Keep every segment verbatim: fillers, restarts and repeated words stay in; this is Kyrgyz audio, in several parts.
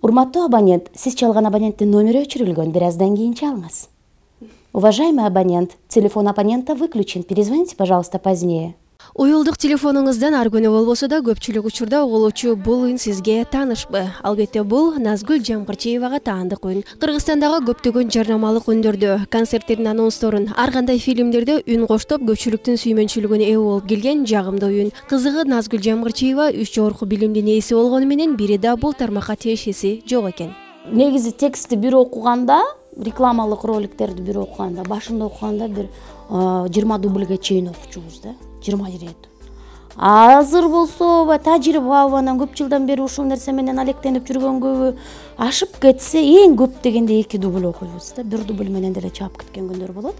Урматтуу абонент, сиз чалган абоненттин номери өчүрүлгөн. Бир аздан кийин чалыңыз. Уважаемый абонент, телефон абонента выключен. Перезвоните, пожалуйста, позднее. Уюлдук телефонуңуздан ар күнү болбосо да көпчүлүк учурда угулуучу бул үн сизге таанышпы? Албетте бул Назгүл Жамгырчиевага таандык үн. Кыргызстандагы көптөгөн жарнамалык үндөрдө, концерттердин анонсторун, ар кандай фильмдерде үн коштоп көпчүлүктүн сүймөнчүлүгүнө ээ болуп келген жагымдуу үн. Кызыгы Назгүл Жамгырчиева үч жогорку билимдин ээси болгону менен бири да бул тармакка тиешеси жок экен. Негизи текстти бир окуганда, рекламалык роликтерди бир окуганда, башында окуганда бир жыйырма дубльге чейин окучубуз да. жыйырма рет. Азыр болсо, тажрыйба анан көп жылдан бери ушул нерсе менен алектенип жүргөнгө ашып кетсе, эң көп дегенде эки дубль окуйбуз да. Бир дубль менен деле чаап кеткен күндөр болот.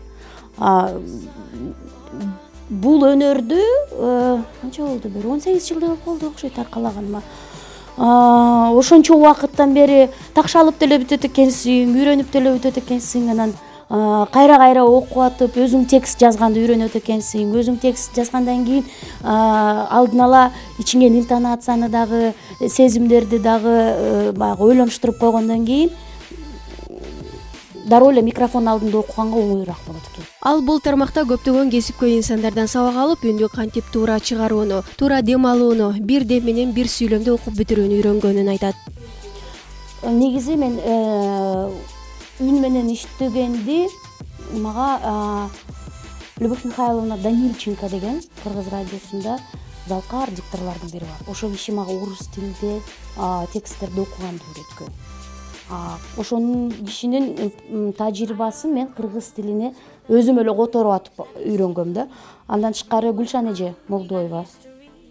Бул өнөрдү канча болду бир он сегиз жылдай болду окшойт таркалаганыма. Ошончо убакыттан бери такшалып деле бүтөт экенсиң, үйрөнүп деле бүтөт экенсиң, анан кайра-кайра окуп атып, өзүң текст жазганды үйрөнөт экенсиң. Өзүң текст жазгандан кийин алдын ала ичиңен интонацияны дагы, сезимдерди дагы баягы ойлонуштуруп койгондон кийин дароо эле микрофон алдында окуганга оңоюраак болот экен. Ал бул тармакта көптөгөн кесипкөй инсандардан сабак алып, үндү кантип туура чыгарууну, туура дем алууну, бир дем менен бир сүйлөмдү окуп бүтүрүүнү үйрөнгөнүн айтат. Негизи мен үн менен иштегенди мага Любовь Михайловна Данильченко деген Кыргыз радиосунда залкар дикторлордун бири бар. Ошол киши мага орус тилинде тексттерди окуганды үйрөткөн. Ошонун кишинин тажрыйбасын мен кыргыз тилине өзүм эле которуп атып үйрөнгөм да. Андан тышкары Гүлшан эже Молдоева.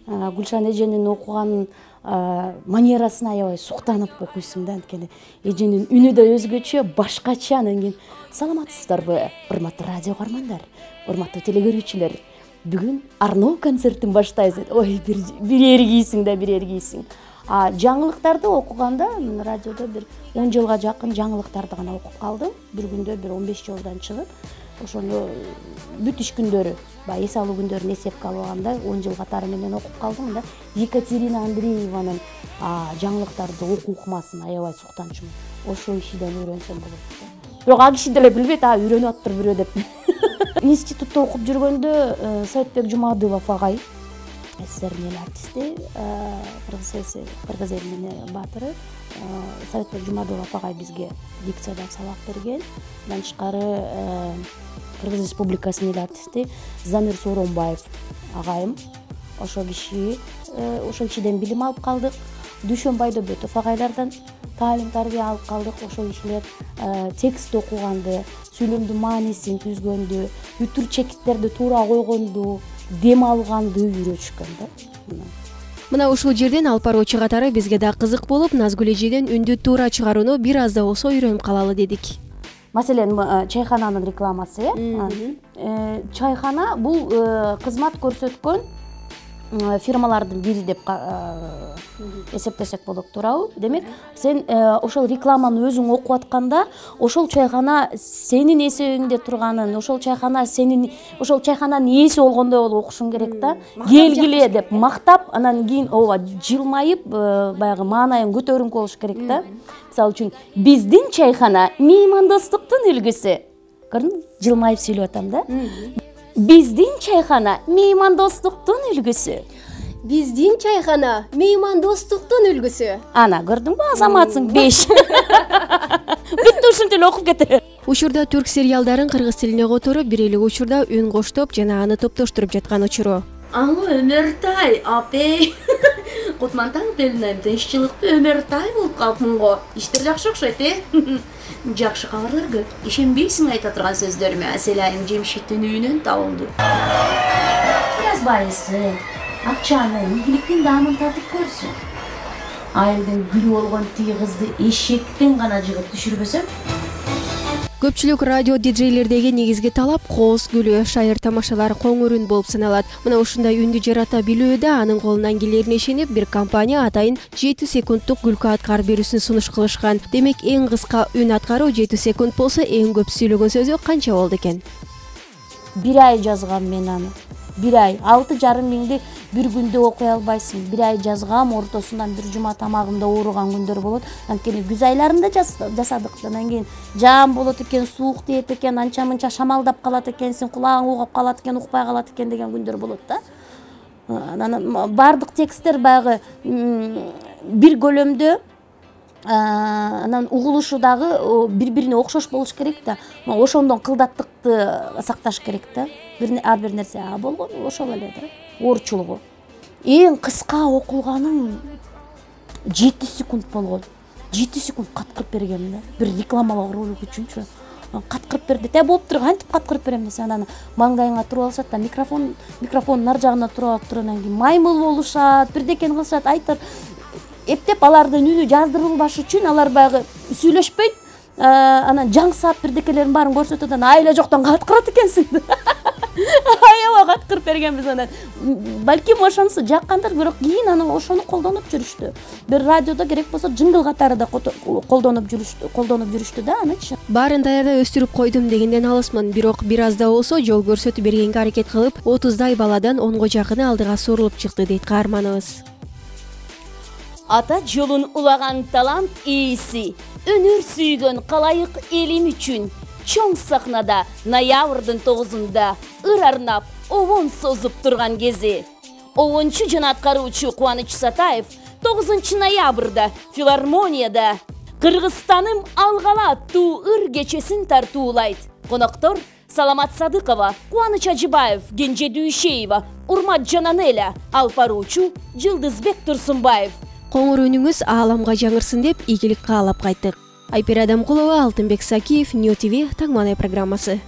Гүлшан эженин окуганын манерасына аябай суктанып окуйсуң да, анткени эженин үнү да өзгөчө, башкача. Анан кийин саламатсыздарбы, урматтуу радио каармандар, урматтуу телегөрүүчүлөр. Бүгүн Арно концертин баштайбыз. Ой, бир эргийсиң да, бир эргийсиң. А жаңылыктарды окуганда, мен радиодо бир он жылга жакын жаңылыктарды гана окуп калдым. Bir күндө бир он беш жолдон чыгып, ошону бүт иш күндөрү, баягы эс алуу күндөрүн эсепке алганда он жыл катары менен окуп калдым да. Екатерина Андрееванын жаңылыктарды окуу укмасын аябай суктанчумун. Ошол кишиден үйрөнсөм болот. Бирок ал киши деле билбейт, а үйрөнүп атыптыр бирөө деп. Институтта окуп жүргөндө Советбек Жумадылов агай, СССРдин эл артисти, Кыргыз элинин баатыры, Советбек Жумадылов агай бизге дикциядан сабак берген. Андан тышкары Кыргыз Республикасынын эл артисти Замир Сооронбаев агайым. Ошол киши, ошол кишиден билим алып калдык. Дүйшөн Байдобетов агайлардан таалим тарбия алып калдык. Ошол кишилер текст окуганды, сүйлөмдүн маанисин түзгөндү, бүтүр чекиттерди туура койгонду, дем алганды үйрөтүшкөн да. Мына ушул жерден алып баруучу катары бизге да кызык болуп, Назгүл эжеден үндү туура чыгарууну бир аз да болсо үйрөнүп калалы дедик. Маселен, чайхананын рекламасы, э? Чайхана бул кызмат көрсөткөн фирмалардын бири деп эсептесек болот, туурабы? Демек, сен ошол рекламаны өзүң окуп атканда, ошол чайхана сенин эсебиңде турганын, ошол чайхана сенин, ошол чайхананын ээси болгондой болуп окушуң керек да. Келгиле деп мактап, анан кийин ооба жылмайып, баягы маанайың көтөрүңкү болуш керек да. Мисалы үчүн, биздин чайхана меймандостуктун үлгүсү. Көрдүңбү? Жылмайып сүйлөп атам да. Биздин чайхана меймандостуктун үлгүсү. Биздин чайхана меймандостуктун үлгүсү. Ана, көрдүңбү, азаматсың беш. Бүттү, ушинтип эле окуп кете. Учурда түрк сериалдарын кыргыз тилине которуп, бир эле учурда үн коштоп жана аны топтоштуруп жаткан учуру. Аңы Өмөртай, апей. Кутмантаң белинайм, тынччылыкты Өмөртай болуп калыпмын го. Иштер жакшы окшойт, э? Жакшы кабарлар көп. Ишенбейсиң айта турган сөздөрүмө. Аселайым жемшиктин үйүнөн табылды. Жазбайсың. Акчаны, ийгиликтин даамын татып көрсүң. Айылдын гүлү болгон тиги кызды эшектен гана жыгып түшүрбөсөм. Көпчүлүк радио диджейлердеги негизги талап кооз гүлү, шайыр тамашалар, коңур үн болуп саналат. Мына ушундай үндү жарата билүүдө анын колунан келерине ишенип, бир компания атайын жети секундтук күлкү аткарып берүүсүн сунуш кылышкан. Демек, эң кыска үн аткаруу жети секунд болсо, эң көп сүйлөгөн сөзү канча болду экен? Бир ай жазгам мен аны. бир ай алты жарым миңди бир күндө окуй албайсың. Бир ай жазгам, ортосунан бир жума тамагымда ооруган күндөр болот. Анткени күз айларында жасадык. Анан кийин жаам болот экен, суук тиет экен, анча мынча шамалдап калат экенсиң, кулагың угап калат экен, укпай калат экен деген күндөр болот да. Анан бардык тексттер баягы бир көлөмдө, анан угулушу дагы бири-бирине окшош болуш керек да. Ошондон кылдаттыкты сакташ керек да. Ар бир нерсе а болгон ошол эле да. Оорчулугу. Эң кыска окулганым жети секунд болгон. жети секунд каткырып бергем да. Бир рекламалык ролик үчүнчү. Каткырып берди. Те болуптур, кантип каткырып берем десе, анан маңдайыңа туруп алышат да, микрофон, микрофондун нар жагына туруп алып туруп, анан кийин маймыл болушат, бирдекени кылышат, айтыр. Эптеп алардын үнү жаздырылбаш үчүн алар баягы сүйлөшпөйт, анан жаңсап бирдекелерин баарын көрсөтөт, анан айла жоктон каткырат экенсиң. Аябай каткырып бергенбиз анан. Балким ошонусу жаккандыр, бирок кийин анан ошону колдонуп жүрүштү. Бир радиодо керек болсо жингл катары да колдонуп жүрүштү, колдонуп жүрүштү да анычы. Баарын даярда өстүрүп койдум дегенден алысмын, бирок бир аз да болсо жол көрсөтүп бергенге аракет кылып, отуздай баладан онго жакыны алдыга сурулуп чыкты дейт каарманыбыз. Ата жолун улаган талант ээси, өнөр сүйгөн калайык элим үчүн чоң сахнада ноябрдын тогузунда ыр арнап обон созуп турган кези. Обончу жана аткаруучу Кубаныч Сатаев тогузунчу ноябрда филармонияда Кыргызстаным алгала аттуу ыр кечесин тартуулайт. Коноктор Саламат Садыкова, Кубаныч Ажыбаев, Кенже Дүйшеева, Урмат Жананеля, алып баруучу Жылдызбек Турсунбаев. Коңур үнүңүз ааламга жаңырсын деп ийгилик каалап кайттык. Айпер Адамкулова, Алтынбек Сакиев, Нью ТВ Таңманай программасы.